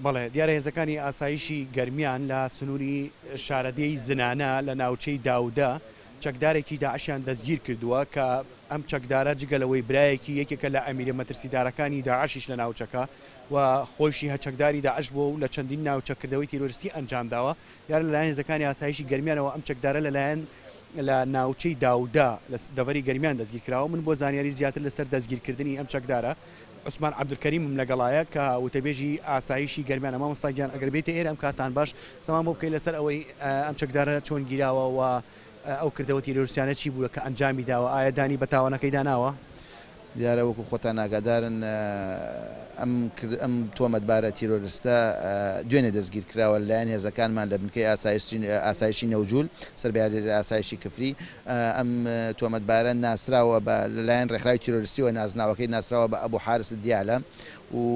بەڵێ دیارە هێزەکانی ئاسایشی گەرمیان لە سنووری شارەدێی زنانە لە ناوچەی داودە چەکدارێکی داعشیان دەستگیر کردووە کە ئەم چەکدارە جگە لەوەی برایەکی یەکێکە لە ئەمیرە مەترسیدارەکانی داعشیش لە ناوچەکە و خۆیشی هە چەکداری داعش بووە و لە چەندین ناوچە کردەوەی تیرۆریستی ئەنجامداوە. دیارە لەلایەن هێزەکانی ئاسایشی گەرمیانەوە ئەم چەکدارە لەلایەن لە ناوچەی داودە لە دەڤەری گەرمیان دەستگیرکراوە. من بۆ زانیاری زیاتر لەسەر دەستگیرکردنی ئەم چەکدارە عوسمان عەبدولکەریمم لەگەڵایە کە وتەبێژی ئاسایشی گەرمیانە. مامۆستا گیان ئەگەر بێیتە ئێرە ئەم کاتان باش قسەمان بۆ بکەی لەسەر ئەوەی ئەم چەکدارە چۆن گیراوە و ئەو کردەوە تیرۆریستیانە چی بووە کە ئەنجامی داوە؟ ئایا دانی بە تاوانەکەیدا ناوە؟ دیارە وەکو خۆتان ئاگادارن ئەم ئەم تۆمەتبارە تیرۆرستە دوێنێ دەستگیر کراوە لەلایەن هێزەکانمان لە بنکەی ئاسایشی نەوجول سەر بە ئاسایشی کفری. ئەم تۆمەتبارە ناسراوە بە لەلایەن ڕێکخراوی تیرۆرستیەوە نازناوەکەی ناسراوە بە ئەبو حارس دیالە و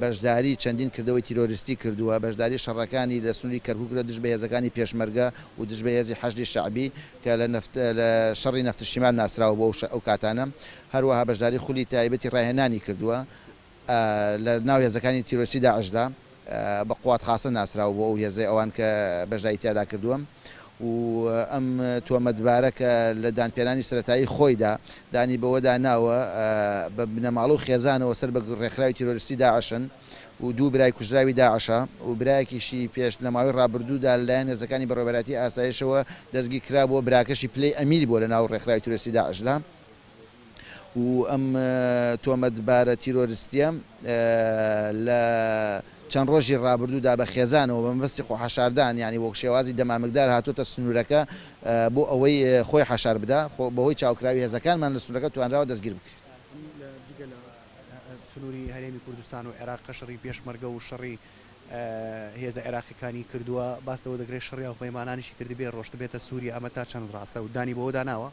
بەشداری چەندین کردەوەی تیرۆریستی کردووە، بەشداری شەڕەکانی لە سنووری کەرکوک لە دژ بە هێزەکانی پێشمەرگە و دژ بە هێزی حەشدی شەعبی کە لە نەفت لە شەڕی نەفت شیمال ناسراوە بۆ ئەو کاتانە، هەروەها بەشداری خولی تایبەتی ڕاهێنانی کردووە لە ناو هێزەکانی تیرۆریستی داعشدا بە قوات خاسە ناسراوە بۆ ئەو هێزەی ئەوان کە بەشداری تیادا کردووە و ئەم تۆمەتبارە کە لە دانپێنانی سەرەتایی خۆیدا دانی بەوەدا ناوە بە بنەماڵە و خێزانەوە سەر بە ڕێکخراوی تیرۆریستی داعشن و دوو برای کوژراوی داعشە و برایەکیشی پێش لە ماوەی ڕابردوودا لەلایەن هێزەکانی بەڕێوەبەرایەتی ئاسایشەوە دەستگیرکرابووە، براکەشی پلەی ئەمیر بووە لەناو ڕێکخراوی تیرۆریستی داعشدا و ئەم تۆمەتبارە تیرۆریستییە لە چەند ڕۆژی ڕابردوودا بە خێزانەوە بە مەبەستی خۆحەشاردان یانی وەک شێوازی دەمامکدار هاتووەتە سنوورەکە بۆ ئەوەی خۆی حەشار بدا، بەهۆی چاوکراوی هێزەکانمان لە سنوورەکە توانراوە دەستگیر بکرێت. جگە لە سنووری هەرێمی کوردستان و عێراق کە شەڕی پێشمەرگە و شەڕی هێزە عێراقیەکانی کردووە، باس لەوە دەکرێت شەڕی هاوپەیمانانیشی کردبێ، ڕۆشتبێتە سووریا، ئەمە تا چەند ڕاستە و دانی بەوەدا ناوە؟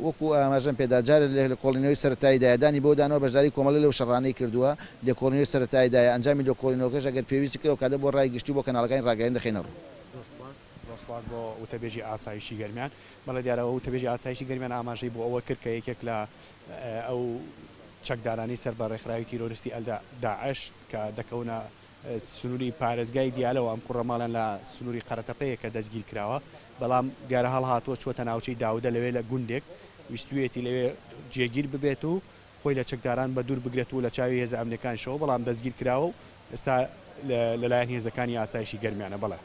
وەکو ئاماژەم پێدا جارێ لە لێکۆڵینەوەی سەرەتاییدایە، دانی بەوەدا ناوە بەشداری کۆمەڵی لەو شەڕانەی کردووە، لێکۆڵینەوەی سەرەتاییدایە، ئەنجامی لێکۆڵینەوەکەش ئەگەر پێویستی کرد ئەوکاتە بۆ ڕای گشتی و بۆ کەناڵەکانی ڕاگەیاندن دەخەینە ڕوو. زۆر سوپاس. زۆر سوپاس بۆ وتەبێژی ئاسایشی گەرمیان. بەڵێ دیارە وتەبێژی ئاسایشی گەرمیان ئاماژەی بۆ ئەوە کرد کە یەکێک لە ئەو چەکدارانەی سەر بە ڕێکخراوی تیرۆریستی داعش کە دەکەونە سنووری پارێزگای دیالەوە، ئەم کوڕە ماڵیان لە سنووری قەرەتەپەیە کە دەستگیر کراوە، بەڵام دیارە هەڵهاتووە چووەتە ناوچەی داودە لەوێ لە گوندێک ویستوویەتی لەوێ جێگیر ببێت و خۆی لە چەکداران بەدوور بگرێت و لە چاوی هێزە ئەمنییەکانیشەوە، بەڵام دەستگیر کراوە و ئێستا لەلایەن هێزەکانی ئاسایشی گەرمیانە. بەڵێ.